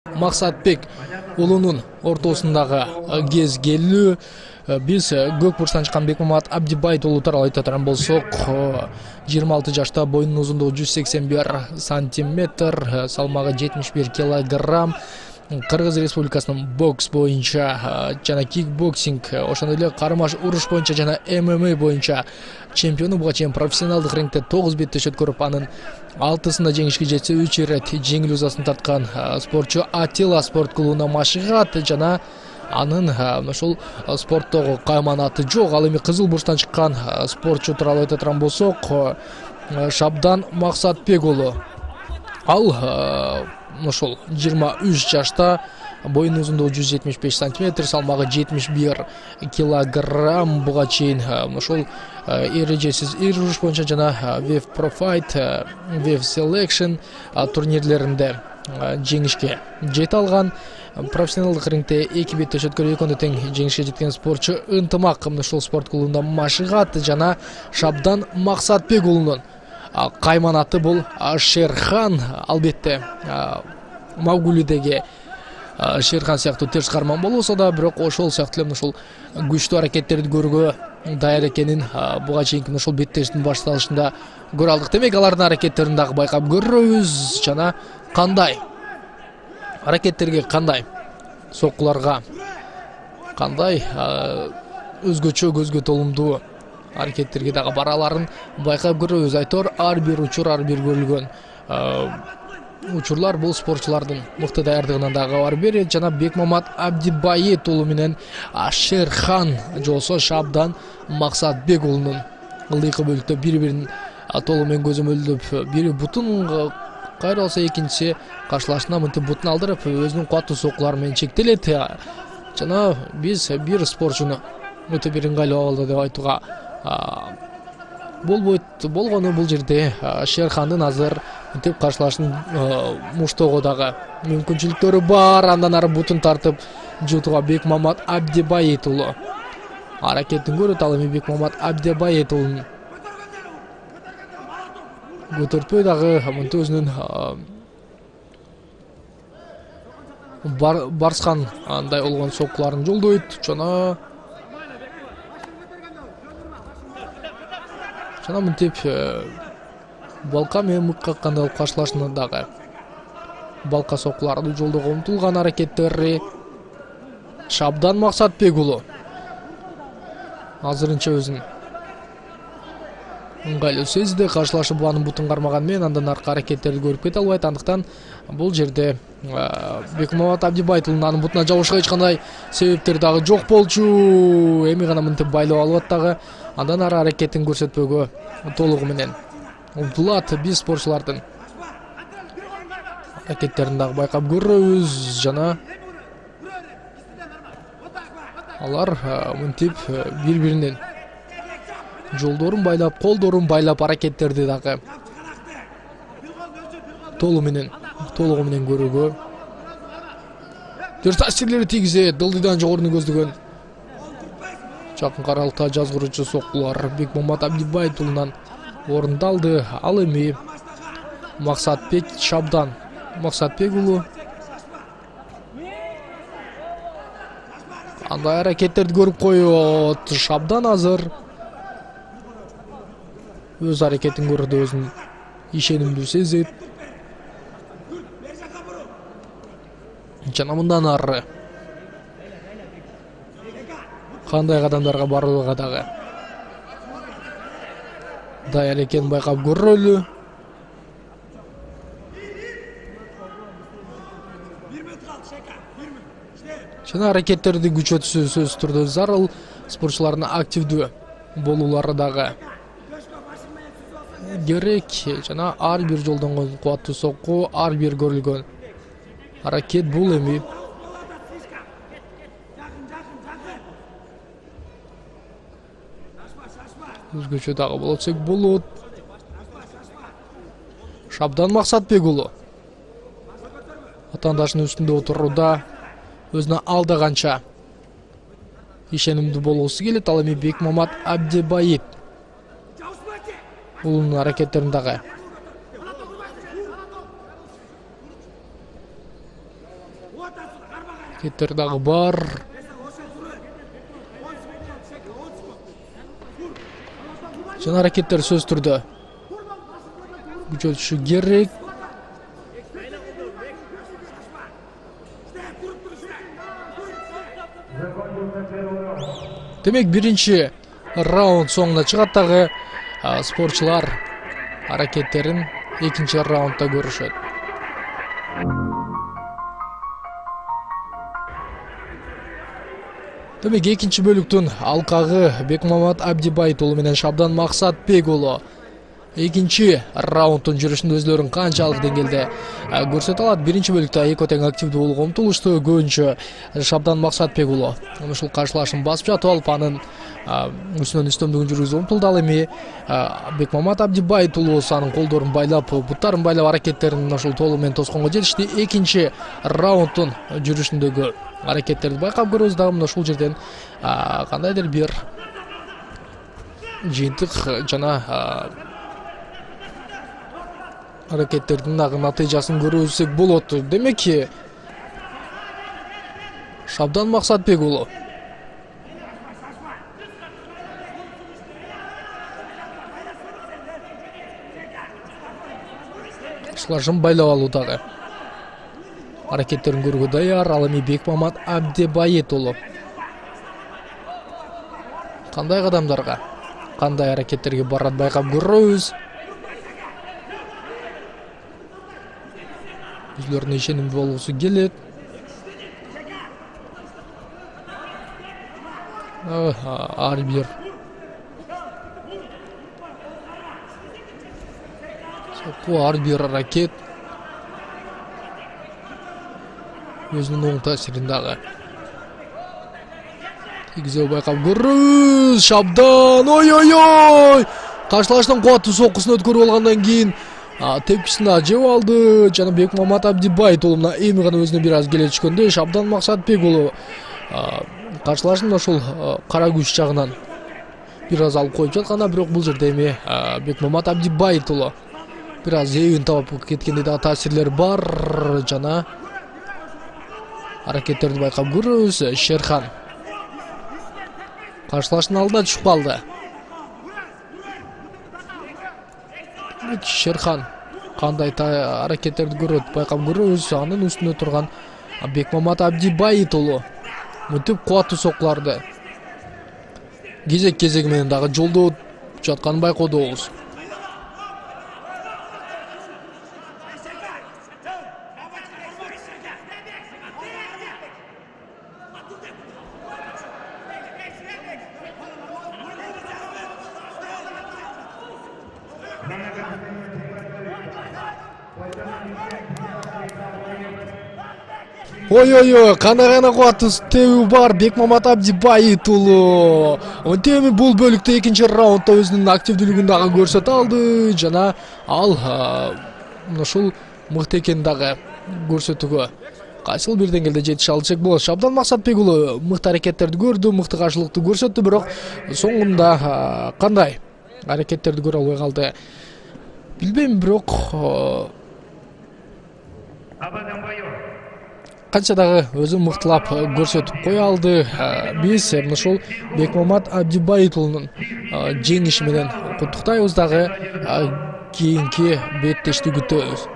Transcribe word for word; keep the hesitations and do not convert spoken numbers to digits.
Максатбек уулунун ортосундагы кез келүү. Биз көк бурчтан чыккан Бекмамат Абдибайт уулу тууралуу айта турган болсок, жыйырма алты жашта, боюнун узундугу жүз сексен бир сантиметр, салмагы жетимиш бир килограмм. Кыргыз Республикасынын бокс боюнча жана кикбоксинг, ошондой эле кармаш уруш боюнча жана эм эм а боюнча чемпиону. Буга чейин профессионалдык рингте тогуз беттешет көрүп, анын алтысында жеңишке жетсе, үч ирет жеңил узасын тарткан спортчу Атила спорт клубуна машыгат жана анын ошол спорттогу кайманаты жок. Ал эми кызыл бурчтан чыккан спортчу тууралуу айта турган болсок, Шабдан Максатбек уулу. Ал ошол жыйырма үч жашта, боюнун узундугу жүз жетимиш беш сантиметр, салмагы жетимиш бир килограмм. Буга чейин ошол эрежесиз ир уруш боюнча жана Wave Pro Fight, Wave Selection турнирлеринде жеңишке жете алган. Профессионалдык рингте эки беттешөткө экөндө тең жеңишке жеткен спортчу ынтымак ошол спорт клубунда машыгат жана Шабдан Максатбек уулунун кайманаты бул Шерхан. Албетте Магулидеги Шерхан сыяктуу терс карман болбосо да, бирок ошол сыяктуу эле ошол күчтүү аракеттерди көрүүгө даяр экенин буга чейинки ошол беттештин башталышында көрө алдык. Демек алардын аракеттерин дагы байкап көрөбүз жана кандай аракеттерге, кандай соккуларга, кандай өзгөчө, көзгө толумдуу аракеттерге дагы бараларын байкап көрөбүз. Айтор ар бир учур, ар бир көрүлгөн учурлар бул спортчулардын мыкты даярдыгынан дагы кабар берет. Жана Бекмамат Абдибайт уулу менен Шерхан жолсо Шабдан Максатбек уулунун ылдыйкы бөлүктө бири-бирин толугу менен көзөмөлдөп, бири бутун кайралса, экинчиси каршылашына мынтип бутун алдырып, өзүнүн кубаттуу соккулары менен чектелет. Жана биз бир спортчуну өтө бир ыңгайлуу абалда деп айтууга болбойт. Болгону бул жерде Шерхандын азыр мынтип каршылашын муштоого дагы мүмкүнчүлүктөрү бар. Андан ары бутун тартып жутууга Бекмамат Абдибайт уулу аракетин көрөт. Ал эми Бекмамат Абдибайт уулунун көтөртпөй дагы мынтип өзүнүн барскан андай болгон соккуларын жолдойт жана жана мынтип балка менен мык каккандай болуп каршылашына дагы балка соккуларды жолдоого умтулган аракеттери. Шабдан Максатбек уулу азырынча өзүн ыңгайлуу сезди. Каршылашып анын бутун кармаган менен андан аркы аракеттерди көрүп кете албайт. Андыктан бул жерде Бекмамат Абдибайт уулунун анын бутуна жабышка эч кандай себептери дагы жок болчу. Эми гана мынтип байлап алып дагы андан ары аракетин көрсөтпөгө толугу менен умтулат. Биз спортчулардын аракеттерин дагы байкап көрөбүз жана алар мынтип бири-биринин жолдорун байлап, колдорун байлап аракеттерди дагы толугу менен толугу менен көрүүгө терс таасирлери тийгизет. Дылдыйдан жогоруну көздөгөн жакын аралыкта жазгыруучу соккулар Бекмамат Абдибайт уулунан орундалды. Ал эми Максатбек Шабдан Максатбек уулу андай аракеттерди көрүп коет. Шабдан азыр өз аракетин көрүүдө өзүн ишенимдүү сезет жана мындан ары кандай кадамдарга барууга дагы даяр экенин байкап көрөлү. Жана аракеттерди күчөтүү сөзсүз түрдө зарыл. Спортчулардын активдүү болуулары дагы керек жана ар бир жолдонгон кубаттуу сокку, ар бир көрүлгөн аракет бул эми өзгөчө дагы болот десек болот. Шабдан Максатбек уулу атаандашынын үстүндө отурууда өзүнө алдаганча ишенимдүү болгусу келет. Ал эми Бекмамат Абдибайт уулунун аракеттерин дагы Аракеттер дагы бар. Жана аракеттер сөз түрдө күчөтүшү керек. Демек биринчи раунд соңуна чыгат дагы спортчулар аракеттерин экинчи раундда көрүшөт. Демек экинчи бөлүктүн алкагы Бекмамат Абдибайт уулу менен Шабдан Максатбек уулу экинчи раунддун жүрүшүндө өзлөрүн канчалык деңгээлде көрсөтө алат. Биринчи бөлүктө экөө тең активдүү болууга умтулушту. Көбүнчө Шабдан Максатбек уулу ушул каршылашын басып жатып алып, анын үстүнөн үстөмдүгүн жүргүзүп умтулду. Ал эми Бекмамат Абдибайт уулу анын колдорун байлап, буттарын байлап аракеттерин ошол толугу менен тосконго жетишти. Экинчи раунддун жүрүшүндөгү аракеттерди байкап көрөбүз. Дагы мына ушул жерден кандайдыр бир жыйынтык жана аракеттердин дагы натыйжасын көрөбүзсек болот. Демек Шабдан Максатбек уулу каршылашын байлап алуудагы аракеттерин көрүүгө даяр. Ал эми Бекмамат Абдибайт уулу кандай кадамдарга, кандай аракеттерге барат байкап көрөбүз. Өзлөрүнө ишенимдүү болгусу келет. Ар бир сокку, ар бир аракет өзүнүн оң таасирин дагы тийгизүү байкап көрөбүз. Шабдан ой-ой-ой! Каршылаштын кубаттуу соккусун өткөрүп алгандан кийин тепкисин да жеп алды. Жана Бекмамат Абдибайт уулу мына эми гана өзүнө бир аз келе түшкөндө Шабдан Максатбек уулу каршылашын ошол кара күч жагынан бир аз алып коюп жатканда, бирок бул жерде эми Бекмамат Абдибайт уулу бир аз эбин таап кеткендей дагы таасирлер бар. Жана аракеттерди байкап көрөбүз. Шерхан каршылаштын алдына түшүп калды. Шерхан кандай аракеттерди көрөт байкап көрөбүз. Анын үстүнө турган Бекмамат Абдибайт уулу мынтип кубаттуу соккуларды кезек кезеги менен дагы жолдоп жатканын байкоодобуз. Ой-ой-ой, кандай гана кубаттуу тебүү бар Бекмамат Абдибайт уулу. Онтеби бул бөлүктө экинчи раундда өзүнүн активдүүлүгүн дагы көрсөтө алды. Жана ал ушул мыкты экенин дагы көрсөтүүгө кайсыл бир деңгээлде жетише алды десек болот. Шабдан Максатбек уулу мыкты аракеттерди көрдү, мыкты каршылыкты көрсөттү, бирок соңунда кандай аракеттерди көрө албай калды билбейм. Бирок канча дагы өзүн мыктылап көрсөтүп кое алды. Биз ушул Бекмамат Абдибайт уулунун жеңиши менен куттуктайбыз, дагы кийинки беттешти күтөбүз.